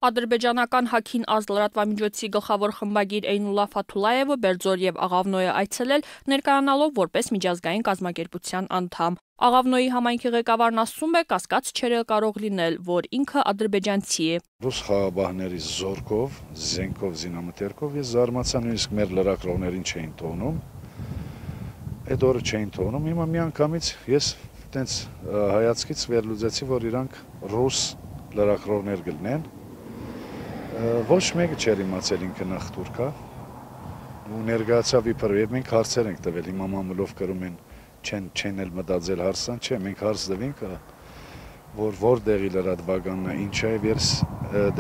Ադրբեջանական Հաքին Ազ լրատվամիջոցի գլխավոր խմբագիր Էյնուլլա Ֆաթուլաևը Բերձոր եւ Աղավնոյ է այցելել, ներկայանալով որպես միջազգային կազմակերպության անդամ։ Աղավնոյի համայնքի ղեկավարն ասում է, կասկած չէր կարող լինել, որ ինքը ադրբեջանցի է։ Ռուս խաղաբահների զորքով, զենքով, զինամթերքով ես զարմացա, նույնիսկ մեր լրագրողներին չէին թողնում։ Այդ օրը չէին թողնում, հիմա միանգամից ես տենց հայացքից վերլուծեցի, որ իրանք ռուս լրագրողներ գտնեն։ Ոչ մեկը չէր իմացել ինքը նախ թուրք է, ու ներկայացավ իբր, եւ մենք հարցեր ենք տվել, հիմա մամուլով կրում են, չեն էլ մտածել հարցան, չէ, մենք հարց տվենք, որ որտեղի լրատվականն է, ինչ է, ես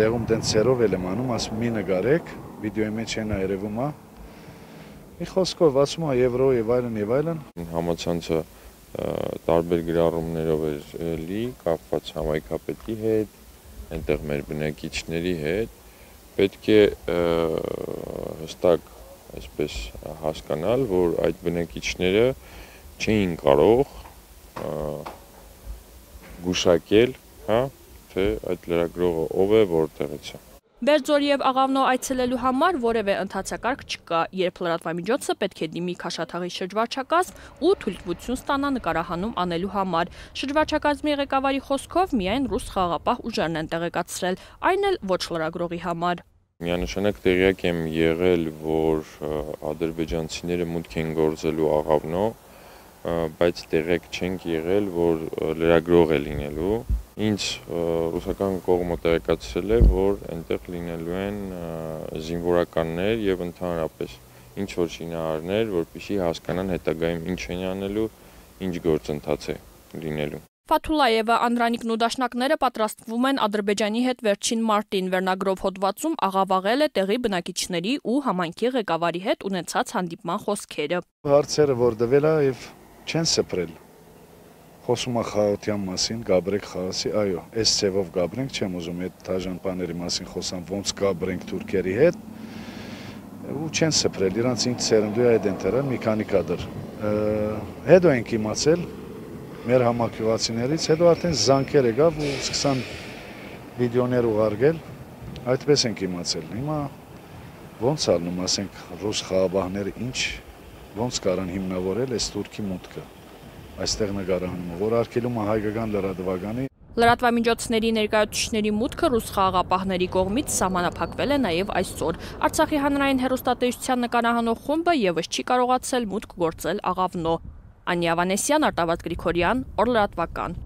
դեղում տենց ցերով էլ եմ անում, ասում մի նկարեք, վիդեոյի մեջ են երևում է, մի խոսքով ասում է եվրո եւ այլն։ Համացանցը տարբեր գրառումներով էր լի, կապված համայնքապետի հետ, այնտեղ մեր բնակիչների հետ, պետք է հստակ այսպես հասկանալ, որ այդ բնակիչները չէին կարող գուշակել, թե այդ լրագրողը ով է, որտեղից է։ Բերձոր եւ Աղավնո այցելելու համար որևէ ընթացակարգ չկա, երբ լրատվամիջոցը պետք է դիմի Քաշաթաղի շրջվարչակազմ ու թույլտվություն ստանա նկարահանում անելու համար։ Շրջվարչակազմի ղեկավարի խոսքով միայն ռուս խաղաղապահ ուժերն են տեղեկացրել, այն էլ ոչ լրագրողի համար։ Միանշանակ տեղյակ եմ եղել, որ ադրբեջանցիները մուտք են գործելու Աղավնո, բայց տեղյակ չենք եղել, որ լրագրող է լինելու։ Ինձ ռուսական կողմը տեղեկացրել է, որ այնտեղ լինելու են զինվորականներ եւ ընդհանրապես ինչ որ շինարարներ, որպեսզի հասկանան հետագայում ինչ են անելու, ինչ գործընթաց է լինելու։ Ֆաթուլաևը Անդրանիկն ու դաշնակները պատրաստվում են Ադրբեջանի հետ վերջին մարտին վերնագրով հոդվածում աղավաղել է տեղի բնակիչների ու համայնքի ղեկավարի հետ ունեցած հանդիպման խոսքերը։ Հարցերը որ տվել է եւ չեն սփռել։ Խոսում է խաղաղության մասին, գաբրեք խաղացի, այո, այս ցևով գաբրենք, չեմ ուզում այդ դաժան բաների մասին խոսամ, ոնց գաբրենք թուրքերի հետ, ու չեն սփռել, իրանց ինձ սերնդու է այդ ընտերը մի քանի կադր։ Հետո ենք իմացել մեր համակյուղացիներից, հետո արդեն զանգեր եկավ ու սկսան վիդեոներ ուղարկել, այդպես ենք իմացել։ Հիմա ոնց ալնում, ասենք, ռուս խաղաբահները ոնց կարան հիմնավորել այս թուրքի մուտքը։ Այստեղ նկարահանումը, որ արգելում է հայկական լրատվականի։ Լրատվամիջոցների ներկայացուցիչների մուտքը ռուս խաղաղապահների կողմից սահմանափակվել է նաև այսօր։ Արցախի հանրային հեռուստատեսության նկարահանող խումբը եւս չի կարողացել մուտք գործել Աղավնո։ Անիա Վանեսյան, Արտավազդ Գրիգորյան, Օր լրատվական։